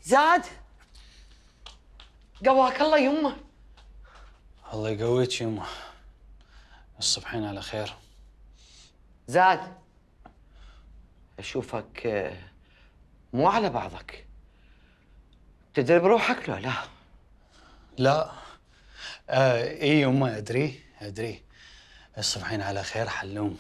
زاد قواك الله يمه. الله يقويك يمه. الصبحين على خير. زاد اشوفك مو على بعضك، تدري بروحك لو لا؟ لا اي يمه ادري. الصبحين على خير حلوم.